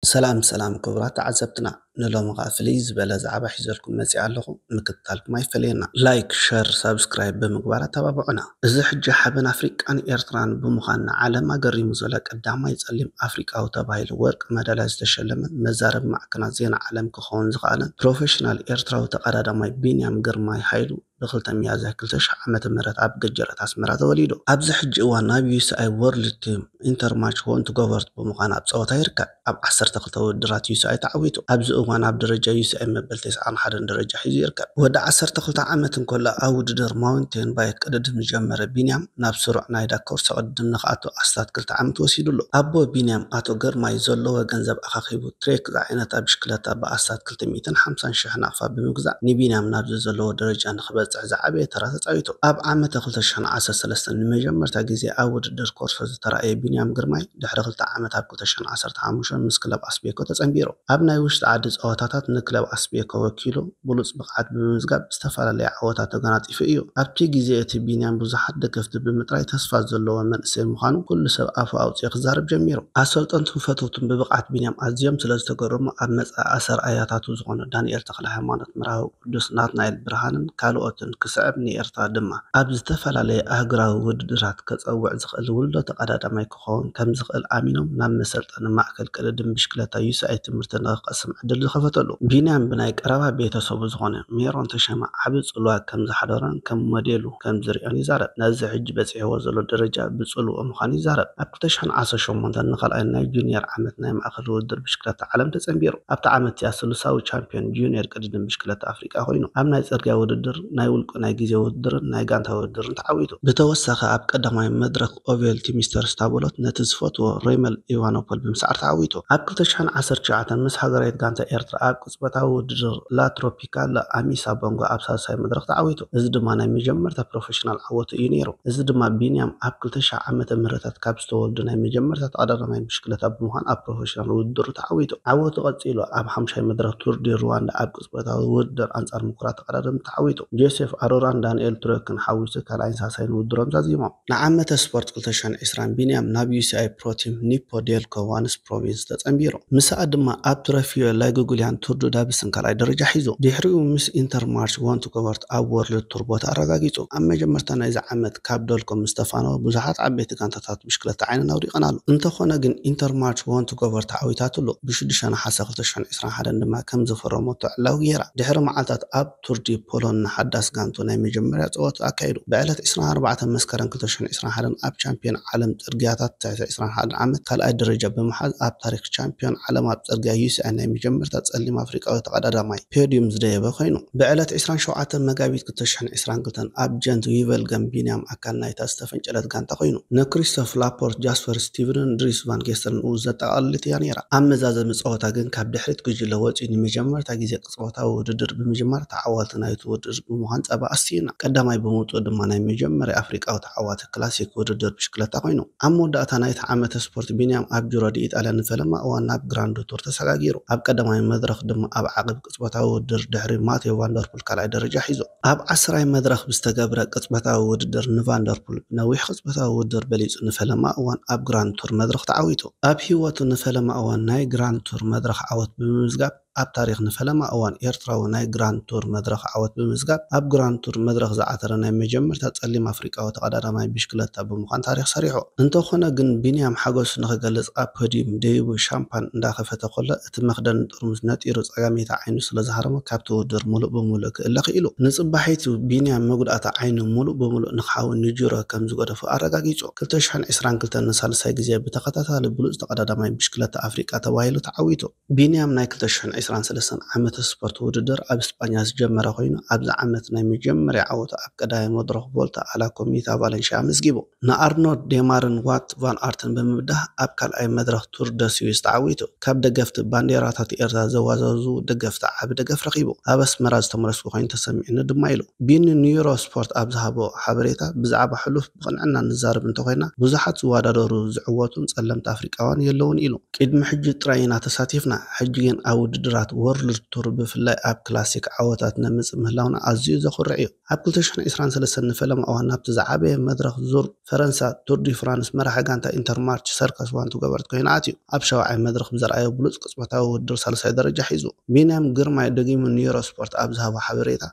ሰላም ሰላም ክቡራት ተዓዘብትና፣ ንሎሚ ኸኣ ፍልይ ዝበለ ዛዕባ ሒዘልኩም መጺኣ ኣለኹ። ምክትታልኩም ኣይፈለየና። ላይክ፣ ሸር፣ ሳብስክራይብ ብምግባር ኣተባብዑና። እዚ ሕጂ ሓበን ኣፍሪቃን ኤርትራን ብምዃን ንዓለም ኣገሪሙ ዘሎ ቀዳማይ ጸሊም ኣፍሪቃዊ ተባሂሉ ወርቂ መዳልያ ዝተሸለመን መዛረቢ ማዕከናት ዜና ዓለም ክኸውን ዝኸኣለን ፕሮፌሽናል ኤርትራዊ ተቐዳዳማይ ቢንያም ግርማይ ሃይሉ ብ ክልተ ሚያዝያ ክልተ ሽሕ ዓመተ ምህረት ኣብ ገጀረት ኣስመራ ተወሊዱ። ኣብዚ ሕጂ እዋን ናብ ዩ ኤስ ኣይ ወርልድ ቲም ኢንተርማች ዎንት ጎቨርት ብምዃን ኣብ ጸወታ ይርከብ። ኣብ ዓሰርተ ክልተ ውድድራት ዩ ኤስ ኣይ ተዓዊቱ። ኣብዚ እዋን ኣብ ደረጃ ዩ ኤስ ኣይ መበል ተስዓን ሓደን ደረጃ ሒዙ ይርከብ። ወዲ ዓሰርተ ክልተ ዓመት እንከሎ ኣብ ውድድር ማውንቴን ባይክ ቅድድም ዝጀመረ ቢንያም ናብ ስሩዕ ናይ ዳካ ኩርሲ ቅድድም ንኽኣቱ ኣስታት ክልተ ዓመት ወሲዱሉ። ኣቦ ቢንያም ኣቶ ግርማይ ዘለዎ ገንዘብ ኣኻኺቡ ትሬክ ዝዓይነታ ብሽክለታ ብኣስታት ክልተ ሚእትን ሓምሳን ሽሕ ናቕፋ ብምግዛእ ንቢንያም ናብዚ ዘለዎ ደረጃ ንኽበጽሕ ዝዓበየ ተራ ተጻዊቱ። ኣብ ዓመተ ክልተ ሽሕን ዓሰርተ ሰለስተን ንመጀመርታ ግዜ ኣብ ውድድር ኮርሶ ዝተራእየ ቢንያም ግርማይ ድሕሪ ክልተ ዓመት ኣብ ክልተ ሽሕን ዓሰርተ ሓሙሽተን ምስ ክለብ ኣስቤኮ ተጸንቢሩ። ኣብ ናይ ውሽጢ ዓዲ ጸወታታት ንክለብ ኣስቤኮ ወኪሉ ብሉጽ ብቕዓት ብምምዝጋብ ዝተፈላለየ ዓወታት ተጎናጺፉ እዩ። ኣብቲ ግዜ እቲ ቢንያም ብዙሓት ደገፍቲ ብምጥራይ ተስፋ ዘለዎ መንእሰይ ምዃኑ ኩሉ ሰብ ኣፉ ኣውጺኡ ክዛረብ ጀሚሩ። ኣሰልጠንቱን ፈተውቱን ብብቕዓት ቢንያም ኣዝዮም ስለ ዝተገረሙ ኣብ መጻኢ ኣሰርኣያታቱ ዝኾኑ ዳንኤል ተኽለሃይማኖት፣ መርሃዊ ቅዱስ፣ ናትናኤል ብርሃንን ካልኦትን ክስዕብ ንኤርትራ ድማ ኣብ ዝተፈላለየ ኣህጉራዊ ውድድራት ከጸውዕ ዝኽእል ውልዶ ተቐዳዳማይ ክኸውን ከም ዝኽእል ኣሚኖም ናብ መሰልጠኒ ማእከል ቅድድም ብሽክለታ ዩ ኤስ ኣይ ትምህርቲ ንኽቐስም ዕድል ዝኸፈተሉ። ቢንያም ብናይ ቀረባ ቤተሰቡ ዝኾነ ሜሮን ተሸመ ዓቢ ጽልዋ ከም ዝሓደሮን ከም ሞዴሉ ከም ዝርእዮን ይዛረብ። ነዚ ሕጂ በጺሕዎ ዘሎ ደረጃ ብጽልውኡ ምዃኑ ይዛረብ። ኣብ ክልተ ሽሕን ዓሰርተ ሸሞንተን ንኻልኣይ ናይ ጁኒየር ዓመት ናይ ማእከል ውድድር ብሽክለታ ዓለም ተጸንቢሩ። ኣብቲ ዓመት እቲኣ ስሉሳዊ ቻምፒዮን ጁኒየር ቅድድም ብሽክለታ ኣፍሪቃ ኮይኑ፣ ኣብ ናይ ጽርግያ ውድድር፣ ናይ ውልቁ ናይ ግዜ ውድድርን ናይ ጋንታ ውድድርን ተዓዊቱ። ብተወሳኺ ኣብ ቀዳማይ መድረኽ ኦቬል ቲሚስተር ስታቦሎት ነቲ ዝፈትዎ ሬመል ኢቫኖፖል ብምስዓር ተዓዊቱ። ኣብ ክልተ ሽሕን ዓሰርተ ትሽዓተን ምስ ሃገራዊት ጋንታ ኤርትራ ኣብ ቅጽበታዊ ውድድር ላ ትሮፒካላ ኣሚሳ ቦንጎ ኣብ ሳልሳይ መድረኽ ተዓዊቱ። እዚ ድማ ናይ መጀመርታ ፕሮፌሽናል ዓወቱ እዩ ነይሩ። እዚ ድማ ቢንያም ኣብ ክልተ ሽሕ ዓመተ ምህረታት ካብ ዝተወልዱ ናይ መጀመርታ ተቐዳዳማይ ብሽክለታ ብምዃን ኣብ ፕሮፌሽናል ውድድሩ ተዓዊቱ። ዓወቱ ቀጺሉ ኣብ ሓሙሻይ መድረኽ ቱር ዲ ሩዋንዳ ኣብ ቅጽበታዊ ውድድር ኣንጻር ምኩራት ተቐዳደምቲ ተዓዊቱ። ጆሴፍ ኣሮራን ዳንኤል ትሮክን ሓዊሱ ካልኣይን ሳልሳይን ውድድሮም ዛዚሞም። ንዓመተ ስፖርት ክልተ ሽሕን ዕስራን ቢንያም ናብ ዩ ኤስ ኣይ ፕሮ ቲም ኒፖ ዴልኮ ዋንስ ፕሮቪንስ ተጸንቢሩ። ምስኣ ድማ ኣብ ትረፊዮ ላይጉጉልያን ቱር ዱ ዳብስን ካልኣይ ደረጃ ሒዙ። ድሕሪኡ ምስ ኢንተርማርች ዎንት ጎቨርት ኣብ ወርልድ ቱር ቦታ ኣረጋጊጹ። ኣብ መጀመርታ ናይዚ ዓመት ካብ ዶልኮ ምስ ተፋነወ ብዙሓት ዓበይቲ ጋንታታት ብሽክለታ ዓይነን ኣውዲቐናሉ። እንተኾነ ግን ኢንተርማርች ዎንት ጎቨርት ተዓዊታትሉ። ብሽዱሽተ ነሓሰ ክልተ ሽሕን ዕስራን ሓደን ድማ ከም ዝፈረመቶ ዕላዊ ገይራ። ድሕሪ መዓልታት ኣብ ቱር ዲ ፖሎን ንሓዳስ ጋንቱ ናይ መጀመርያ ጸወታ ኣካይዱ። ብዕለት ዕስራን ኣርባዕተን መስከረም ክልተ ሽሕን ዕስራን ሓደን ኣብ ቻምፒዮን ዓለም ጽርግያታት ትሕቲ ዕስራን ሓደን ዓመት ካልኣይ ደረጃ ብምሓዝ ኣብ ታሪኽ ቻምፒዮን ዓለም ኣብ ጽርግያ ዩ ኤስ ኣይ ናይ መጀመርታ ጸሊም ኣፍሪቃዊ ተቐዳዳማይ ፖድዩም ዝደየበ ኮይኑ። ብዕለት ዕስራን ሸውዓተን መጋቢት ክልተ ሽሕን ዕስራን ክልተን ኣብ ጀንት ዊቨልገም ቢንያም ኣካል ናይታ ዝተፈንጨለት ጋንታ ኮይኑ። ንክሪስቶፍ ላፖርት፣ ጃስፐር ስቲቨንን ድሪስ ቫን ጌስተርን እውን ዘጠቓልል እያ ነይራ። ኣብ መዛዘሚ ጸወታ ግን ካብ ድሕሪት ጉጅለ ወጺኡ ንመጀመርታ ግዜ ቅጽበታዊ ውድድር ብምጅማር ተዓዋቲ ናይቲ ውድድር ብምዃን ጸባ ኣስትዩና። ቀዳማይ ብምውጽኡ ድማ ናይ መጀመርያ ኣፍሪቃዊ ተዓዋቲ ክላሲክ ውድድር ብሽክለታ ኮይኑ። ኣብ መወዳእታ ናይቲ ዓመተ ስፖርት ቢንያም ኣብ ጂሮ ዲ ኢጣልያ ንፈለማ እዋን ናብ ግራንድ ቱር ተሰጋጊሩ። ኣብ ቀዳማይ መድረኽ ድማ ኣብ ዓቕብ ቅጽበታዊ ውድድር ድሕሪ ማቴዮ ቫንደርፑል ካልኣይ ደረጃ ሒዙ። ኣብ ዓስራይ መድረኽ ብዝተገብረ ቅጽበታዊ ውድድር ንቫንደርፑል ብነዊሕ ቅጽበታዊ ውድድር በሊጹ ንፈለማ እዋን ኣብ ግራንድ ቱር መድረኽ ተዓዊቱ። ኣብ ህይወቱ ንፈለማ እዋን ናይ ግራንድ ቱር መድረኽ ዓወት ብምምዝጋብ ኣብ ታሪኽ ንፈለማ እዋን ኤርትራዊ ናይ ግራንድ ቱር መድረኽ ዓወት ብምምዝጋብ ኣብ ግራንድ ቱር መድረኽ ዝዓተረ ናይ መጀመርታ ጸሊም ኣፍሪቃዊ ተቐዳዳማይ ብሽክለታ ብምዃን ታሪኽ ሰሪሑ። እንተኾነ ግን ቢንያም ሓጎሱ ንኽገልጽ ኣብ ፖድዩም ደይቡ ሻምፓን እንዳኸፈተ ከሎ እቲ መኽደኒ ጥርሙዝ ነጢሩ ጸጋመይቲ ዓይኑ ስለ ዝሃረሞ ካብቲ ውድድር ሙሉእ ብምሉእ ክእለ ክኢሉ። ንጽባሒቱ ቢንያም መጉዳእታ ዓይኑ ሙሉእ ብምሉእ ንኽሓዊ ንጂሮ ከም ዝገደፎ ኣረጋጊጹ። ክልተ ሽሕን ዕስራን ክልተን ንሳልሳይ ግዜ ብተኸታታሊ ብሉጽ ተቐዳዳማይ ብሽክለታ ኣፍሪቃ ተባሂሉ ተዓዊቱ። ቢንያም ናይ ክልተ ሽሕን ዕስራን ሰለስተን ዓመተ ስፖርት ውድድር ኣብ ስጳኛ ዝጀመረ ኮይኑ ኣብዚ ዓመት ናይ መጀመርያ ዓወቱ ኣብ ቀዳማይ መድረኽ ቮልታ ኣላ ኮሚታ ቫለንሺያ ኣመዝጊቡ። ንኣርኖልድ ዴማርን ዋት ቫን ኣርትን ብምብዳህ ኣብ ካልኣይ መድረኽ ቱር ደ ስዊስ ተዓዊቱ። ካብ ደገፍቲ ባንዴራታት ኤርትራ ዘዋዛዝዉ ደገፍቲ ዓቢ ደገፍ ረኺቡ። ኣብ ኣስመራ ዝተመለስኩ ኮይኑ ተሰሚዑኒ ድማ ኢሉ። ቢኒ ንዩሮ ስፖርት ኣብ ዝሃቦ ሓበሬታ ብዛዕባ ሕሉፍ ብቕንዕና ንዛረብ እንተኾይና ብዙሓት ዝወዳደሩ ዝዕወቱን ጸለምቲ ኣፍሪቃውያን የለውን ኢሉ። ቅድሚ ሕጂ ጥራይ ኢና ተሳቲፍና፣ ሕጂ ግን ኣብ ውድድራት ት ወርልድ ቱር ብፍላይ ኣብ ክላሲክ ዓወታት ነምጽእ ምህላውና ኣዝዩ ዘኹርዕ እዩ። ኣብ ክልተ ሽሕን ዕስራን ሰለስተን ንፈለማ እዋን ናብቲ ዝዓበየ መድረኽ ዙር ፈረንሳ ቱር ዲ ፍራንስ መራሒ ጋንታ ኢንተርማርች ሰርከስ ዋንቱ ገበርት ኮይኑ ኣትዩ። ኣብ ሻውዓይ መድረኽ ብዘርኣዮ ብሉጽ ቅጽበታዊ ውድድር ሳልሳይ ደረጃ ሒዙ። ቢንያም ግርማይ ደጊሙ ንዩሮ ስፖርት ኣብ ዝሃቦ ሓበሬታ፣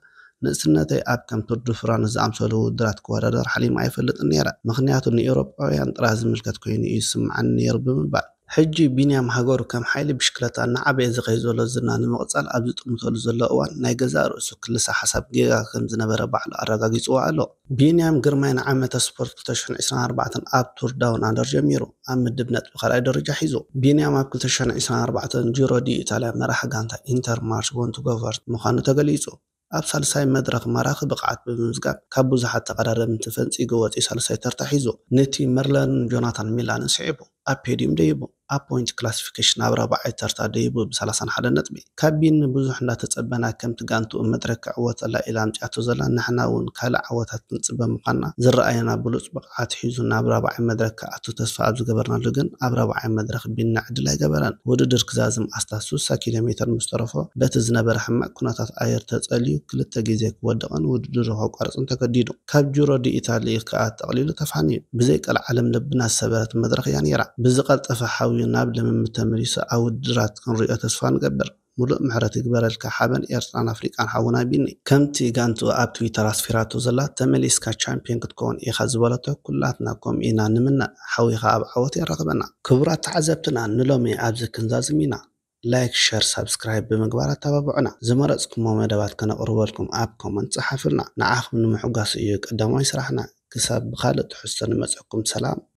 ንእስነተይ ኣብ ከም ቱር ዲ ፍራንስ ዝኣምሰሉ ውድድራት ክወዳደር ሓሊመ ኣይፈልጥን ነይረ፣ ምኽንያቱ ንኤውሮጳውያን ጥራይ ዝምልከት ኮይኑ እዩ ዝስምዓኒ ነይሩ ብምባል ሕጂ ቢንያም ሃገሩ ከም ሓይሊ ብሽክለታ እናዓበየ ዝኸይድ ዘሎ ዝና ንምቕጻል ኣብ ዝጥምተሉ ዘሎ እዋን ናይ ገዛእ ርእሱ ክልሰ ሓሳብ ጌጋ ከም ዝነበረ ባዕሉ ኣረጋጊጽዎ ኣሎ። ቢንያም ግርማይ ንዓመተ ስፖርት ክልተ ሽሕን ዕስራን ኣርባዕተን ኣብ ቱር ዳውን ኣንደር ጀሚሩ ኣብ ምድብ ነጥቢ ካልኣይ ደረጃ ሒዙ። ቢንያም ኣብ ክልተ ሽሕን ዕስራን ኣርባዕተን ጂሮ ዲ ኢታልያ መራሒ ጋንታ ኢንተር ማርሽ ወንቱ ጎቨርት ምዃኑ ተገሊጹ። ኣብ ሳልሳይ መድረኽ ማራኺ ብቕዓት ብምምዝጋብ ካብ ብዙሓት ተቐዳደምቲ ፈንጺጉ ወጺኡ ሳልሳይ ተርታ ሒዙ። ነቲ መርለርን ጆናታን ሚላንን ስዒቡ ኣብ ፔድዩም ደይቡ። ኣብ ፖይንት ክላሲፊኬሽን ኣብ ራብዓይ ተርታ ደይቡ ብሰላሳን ሓደን ነጥቢ። ካብ ቢኒ ብዙሕ እንዳተጸበና ከምቲ ጋንትኡ መድረክ ክዕወተላ ኢላ ኣምጺኣቶ ዘላ ንሕና እውን ካልእ ዓወታት ክንጽበ ምዃንና ዝረኣየና ብሉጽ ብቕዓት ሒዙ ናብ ራብዓይ መድረክ ክኣቱ ተስፋ ኣብ ዝገበርናሉ ግን ኣብ ራብዓይ መድረኽ ቢኒ ዕድል ኣይገበረን። ውድድር ክዛዝም ኣስታት ስሳ ኪሎ ሜተር ምስ ተረፎ በቲ ዝነበረ ሕማቕ ኩነታት ኣየር ተጸልዩ ክልተ ግዜ ክወድቕን ውድድሩ ከቋርጽን ተገዲዱ። ካብ ጂሮ ዲ ኢታሊ ከኣ ጠቕሊሉ ተፋንዩ። ብዘይ ቀልዓለም ልብና ዝሰበረት መድረኽ እያ ነይራ። ብዝቐልጠፈ ሓውዩ ናብ ልምምድ ተመሊሱ ኣብ ውድድራት ክንሪኦ ተስፋ ንገብር። ሙሉእ ምሕረት ይግበረልካ ሓበን ኤርትራን ኣፍሪቃን ሓውና ቢኒ። ከምቲ ጋንትኡ ኣብ ትዊተር ኣስፊራቶ ዘላ ተመሊስካ ቻምፒዮን ክትከውን ኢኻ ዝበለቶ ኩላትና ከምኡ ኢና ንምነ። ሓዊኻ ኣብ ዓወት የራኽበና። ክቡራት ተዓዘብትና ንሎሚ ኣብዚ ክንዛዝም ኢና። ላይክ፣ ሸር፣ ሳብስክራይብ ብምግባር ኣተባብዑና። ዝመረጽኩሞ መደባት ከነቕርበልኩም ኣብ ኮመንት ጸሓፉልና። ንዓኹም ንምሕጓስ እዩ ቀዳማይ ስራሕና። ክሳብ ብኻልእ ትሕዝቶ ንመጸኩም ሰላም።